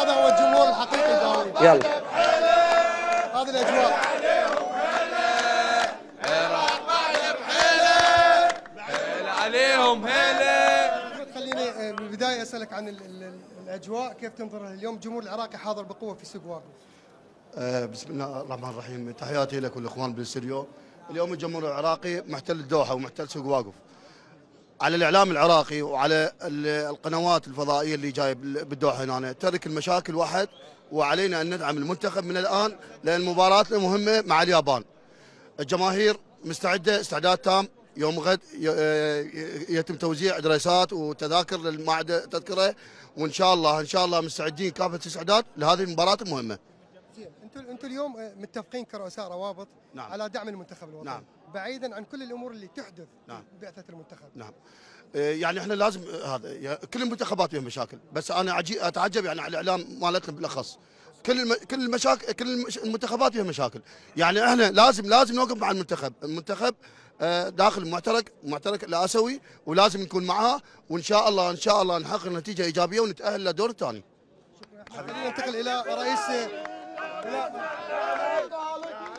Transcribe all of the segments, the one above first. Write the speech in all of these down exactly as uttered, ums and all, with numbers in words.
هذا هو الجمهور الحقيقي داوود. يلا هذه الاجواء. عليهم هلا. خليني بالبدايه اسالك عن ال ال الاجواء، كيف تنظر اليوم الجمهور العراقي حاضر بقوه في سوق واقف؟ أه بسم الله الرحمن الرحيم، تحياتي لك والاخوان بالاستديو. اليوم الجمهور العراقي محتل الدوحه ومحتل سوق واقف. على الاعلام العراقي وعلى القنوات الفضائيه اللي جايه بالدوحه هنا ترك المشاكل واحد، وعلينا ان ندعم المنتخب من الان لان مباراتنا مهمه مع اليابان. الجماهير مستعده استعداد تام. يوم غد يتم توزيع دريسات وتذاكر للمعهد تذكره، وان شاء الله ان شاء الله مستعدين كافه الاستعداد لهذه المباراه المهمه. زين، انتم انتم اليوم متفقين كرؤساء روابط نعم. على دعم المنتخب الوطني. نعم. بعيدا عن كل الامور اللي تحدث نعم. بعثه المنتخب. نعم. يعني احنا لازم هذا كل المنتخبات فيها مشاكل، بس انا اتعجب يعني على الاعلام مالتنا بالاخص. كل الم... كل المشاكل كل المنتخبات فيها مشاكل، يعني احنا لازم لازم نوقف مع المنتخب، المنتخب داخل معترك معترك الاسيوي ولازم نكون معها، وان شاء الله ان شاء الله نحقق نتيجه ايجابيه ونتاهل للدور الثاني. خلينا ننتقل الى رئيس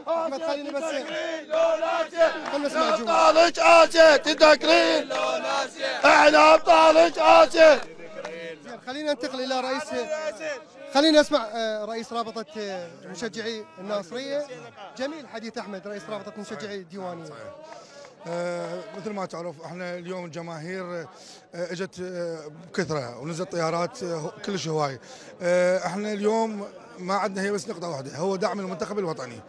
احمد. خليني بس خلينا نسمع الجمهور. ابطالك اسيا تذكرين، احنا ابطالك اسيا. خلينا ننتقل الى رئيس خلينا نسمع رئيس رابطه مشجعي الناصريه. جميل حديث احمد رئيس رابطه مشجعي الديوانيه. آه مثل ما تعرف احنا اليوم الجماهير آه اجت آه بكثره ونزلت طيارات آه كلش هواي. آه احنا اليوم ما عندنا هي بس نقطه واحده، هو دعم المنتخب الوطني.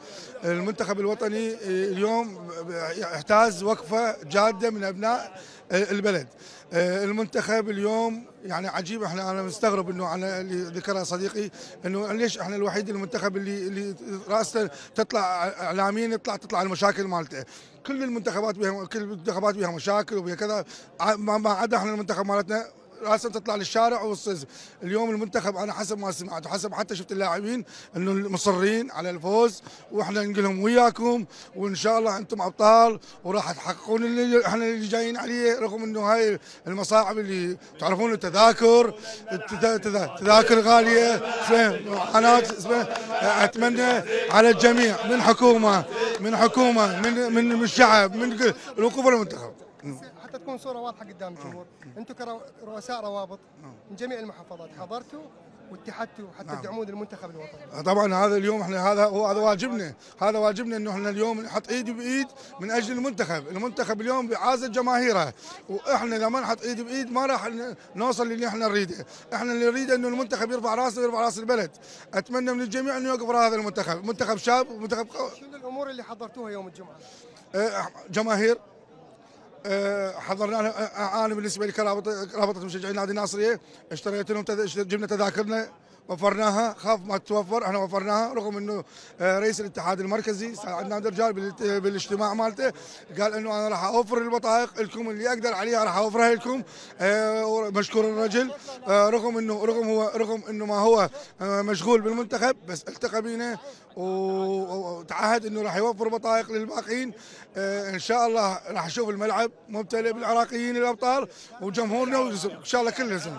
المنتخب الوطني آه اليوم يحتاج وقفه جاده من ابناء آه البلد. آه المنتخب اليوم يعني عجيب، احنا انا مستغرب انه على اللي ذكرها صديقي انه ليش احنا الوحيد المنتخب اللي اللي راسته تطلع اعلاميا يطلع تطلع المشاكل مالته. كل المنتخبات بها كل المنتخبات بها مشاكل وبها كذا، ما عدا احنا المنتخب مالتنا راسا تطلع للشارع والصز. اليوم المنتخب انا حسب ما سمعت وحسب حتى شفت اللاعبين انه مصرين على الفوز، واحنا نقول لهم وياكم وان شاء الله انتم ابطال وراح تحققون اللي احنا اللي جايين عليه، رغم انه هاي المصاعب اللي تعرفون التذاكر تذاكر غاليه معاناه. اتمنى على الجميع من حكومه من حكومه من من الشعب من الوقوف المنتخب. حتى تكون صوره واضحه قدام الجمهور، انتم كرؤساء روابط من جميع المحافظات حضرتوا واتحدتوا حتى نعم. تدعمون المنتخب الوطني. طبعا هذا اليوم احنا هذا هو هذا واجبنا، هذا واجبنا انه احنا اليوم نحط ايد بايد من اجل المنتخب، المنتخب اليوم بعازة جماهيره، واحنا لما نحط ايد بايد ما راح نوصل للي احنا نريده، احنا اللي نريده انه المنتخب يرفع راسه ويرفع راس البلد. اتمنى من الجميع انه يوقف هذا المنتخب، منتخب شاب ومنتخب قوي. شنو الامور اللي حضرتوها يوم الجمعه؟ اه جماهير حضرنا. انا بالنسبه لي كرابطه رابطه مشجعين نادي الناصريه اشتريت لهم جبنا تذاكرنا وفرناها، خاف ما تتوفر احنا وفرناها، رغم انه رئيس الاتحاد المركزي ساعدنا نادي الرجال بالاجتماع مالته قال انه انا راح اوفر البطائق لكم اللي اقدر عليها راح اوفرها لكم. مشكور الرجل، رغم انه رغم هو رغم انه ما هو مشغول بالمنتخب بس التقى بينا وتعهد انه راح يوفر بطائق للباقيين. ان شاء الله راح نشوف الملعب ممتلئ بالعراقيين الابطال وجمهورنا وان شاء الله كلنا زين.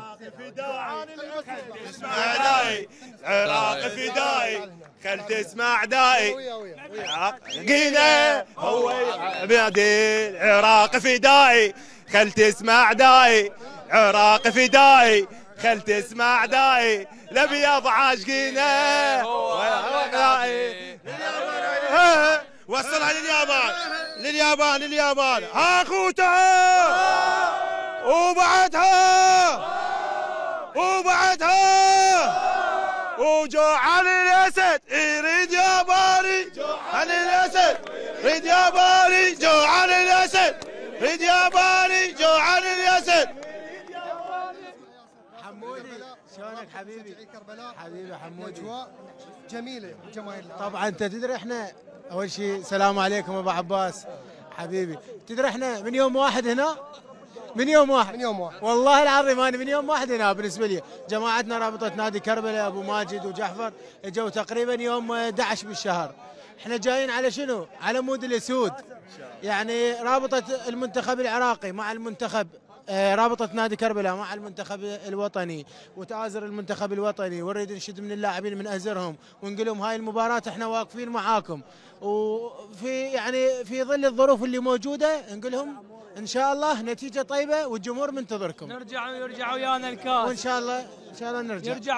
عراق فدائي خل تسمع دائي قينا هو بنادي العراق فدائي خل تسمع دائي عراق فدائي خل تسمع دائي الابيض عاشقينا وصلها لليابان لليابان لليابان اخوتها وبعدها وبعدها وجوع الاسد يريد يا باري عن الاسد ريد يا باري جوع الاسد ريد يا باري جوع الاسد. حمودي شلونك حبيبي؟ حبيبي حمودي. اجواء جميله جماهير. طبعا انت تدري احنا اول شيء السلام عليكم ابو عباس حبيبي. تدري احنا من يوم واحد هنا من يوم واحد من يوم واحد والله العظيم انا من يوم واحد هنا. بالنسبه لي جماعتنا رابطه نادي كربلاء ابو ماجد وجعفر اجوا تقريبا يوم احد عشر بالشهر. احنا جايين على شنو؟ على مود الاسود، يعني رابطه المنتخب العراقي مع المنتخب رابطة نادي كربلاء مع المنتخب الوطني وتآزر المنتخب الوطني، ونريد نشد من اللاعبين من أزرهم ونقول لهم هاي المباراة احنا واقفين معاكم، وفي يعني في ظل الظروف اللي موجودة نقول لهم ان شاء الله نتيجة طيبة والجمهور منتظركم. نرجع ويرجع ويانا الكاس. وان شاء الله ان شاء الله نرجع. يرجع